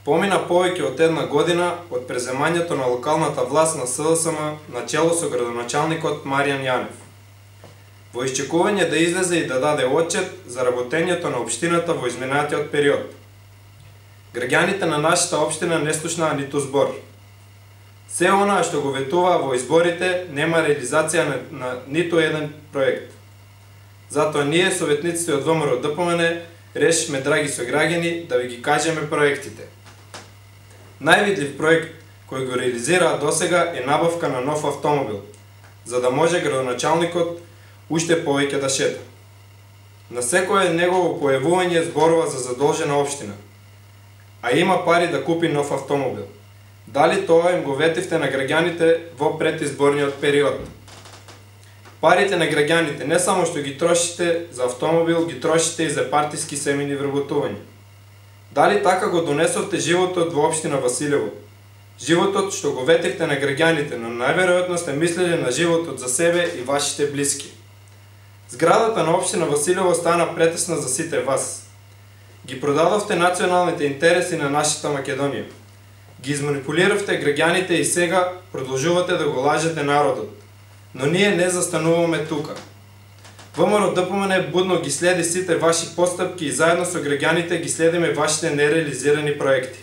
Помина повеќе од една година од преземањето на локалната власт на СДСМ начело со градоначалникот Маријан Јанев. Во исчекување да излезе и да даде отчет за работењето на општината во изминатиот период. Граѓаните на нашата општина не слушнаа ниту збор. Се онаа што го ветуваа во изборите нема реализација на ниту еден проект. Затоа ние, советниците од ВМРО ДПМН, решивме, драги сограѓани, да ви ги кажеме проектите. Највидлив проект кој го реализираа досега е набавка на нов автомобил, за да може градоначалникот уште повеќе да шета. На секое негово појавување зборува за задолжена општина, а има пари да купи нов автомобил. Дали тоа им го ветивте на граѓаните во предизборниот период? Парите на граѓаните не само што ги трошите за автомобил, ги трошите и за партиски семејни вработувања. Дали така го донесовте животот во општина Василево? Животот што го ветивте на граѓаните, но најверојатно сте мислеле на животот за себе и вашите блиски. Зградата на општина Василево стана претесна за сите вас. Ги продадовте националните интереси на нашата Македонија. Ги изманипулиравте граѓаните и сега продолжувате да го лажете народот. Но ние не застануваме тука. ВМРО ДПМН будно ги следи сите ваши постапки и заедно со граѓаните ги следиме вашите нереализирани проекти.